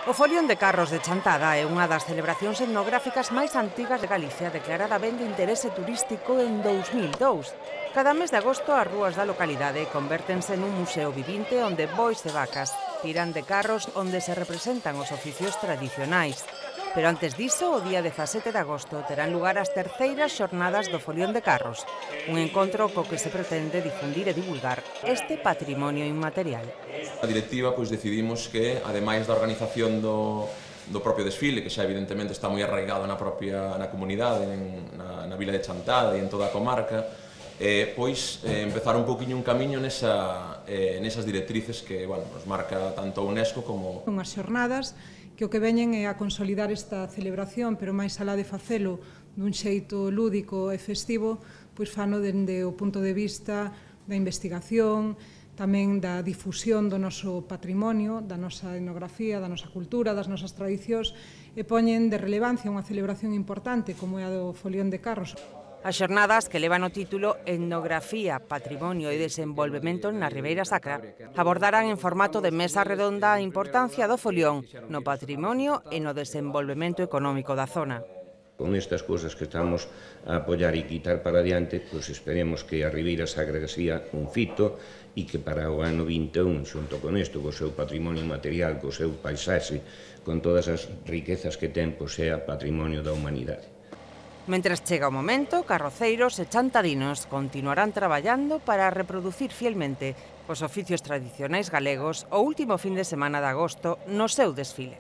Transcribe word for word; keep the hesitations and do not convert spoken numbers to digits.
O Folión de Carros de Chantada é unha das celebracións etnográficas máis antigas de Galicia, declarada ben de interese turístico en dous mil dous. Cada mes de agosto as rúas da localidade convértense nun museo vivinte onde bois e vacas tiran de carros onde se representan os oficios tradicionais. Pero antes diso, o día dezasete de agosto terán lugar as terceiras xornadas do Folión de Carros, un encontro co que se pretende difundir e divulgar este patrimonio inmaterial. A directiva pois decidimos que, ademais da organización do, do propio desfile, que xa evidentemente está moi arraigado na propia na comunidade, en, na, na vila de Chantada e en toda a comarca, eh, pois eh, empezar un poquinho un camiño nesa, eh, nesas directrices que bueno, nos marca tanto a UNESCO como... Unhas xornadas que o que veñen é a consolidar esta celebración, pero máis alá de facelo dun xeito lúdico e festivo, pois fano dende o punto de vista da investigación, tamén da difusión do noso patrimonio, da nosa etnografía, da nosa cultura, das nosas tradicións, e poñen de relevancia unha celebración importante como é a do Folión de Carros. As xornadas, que levan o título Etnografía, Patrimonio e Desenvolvemento na Ribeira Sacra, abordarán en formato de mesa redonda a importancia do folión no patrimonio e no desenvolvemento económico da zona. Con estas cousas que estamos a apoiar e quitar para adiante, pois esperemos que a Ribeira Sacra sea un fito e que para o ano vinte e un, xunto con isto, co seu patrimonio material, co seu paisaxe, con todas as riquezas que ten, pois sea patrimonio da humanidade. Mentres chega o momento, carroceiros e chantadinos continuarán traballando para reproducir fielmente os oficios tradicionais galegos o último fin de semana de agosto no seu desfile.